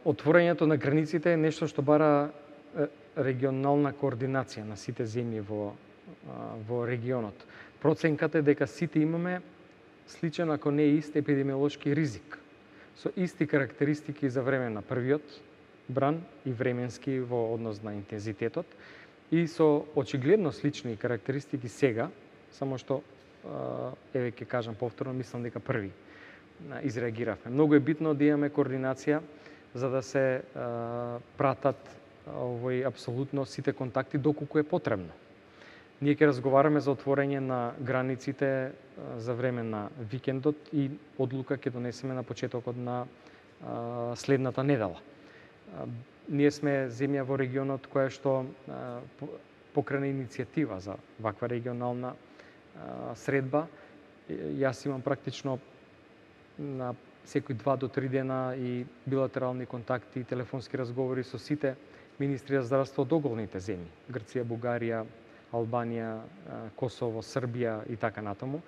Отворањето на границите е нешто што бара регионална координација на сите земји во регионот. Проценката е дека сите имаме сличен, ако не ист, епидемиолошки ризик, со исти карактеристики за време на првиот бран и временски во однос на интензитетот и со очигледно слични карактеристики сега, само што еве ќе кажам повторно, мислам дека први изреагиравме. Многу е битно да имаме координација за да се пратат апсолутно сите контакти доколку е потребно. Ние ќе разговараме за отворање на границите за време на викендот и одлука ќе донесеме на почетокот на следната недела. Ние сме земја во регионот која што покрена иницијатива за ваква регионална средба. Јас имам практично на секои 2 до 3 дена и билатерални контакти и телефонски разговори со сите министри за здравство од околните земји: Грција, Бугарија, Албанија, Косово, Србија и така натаму.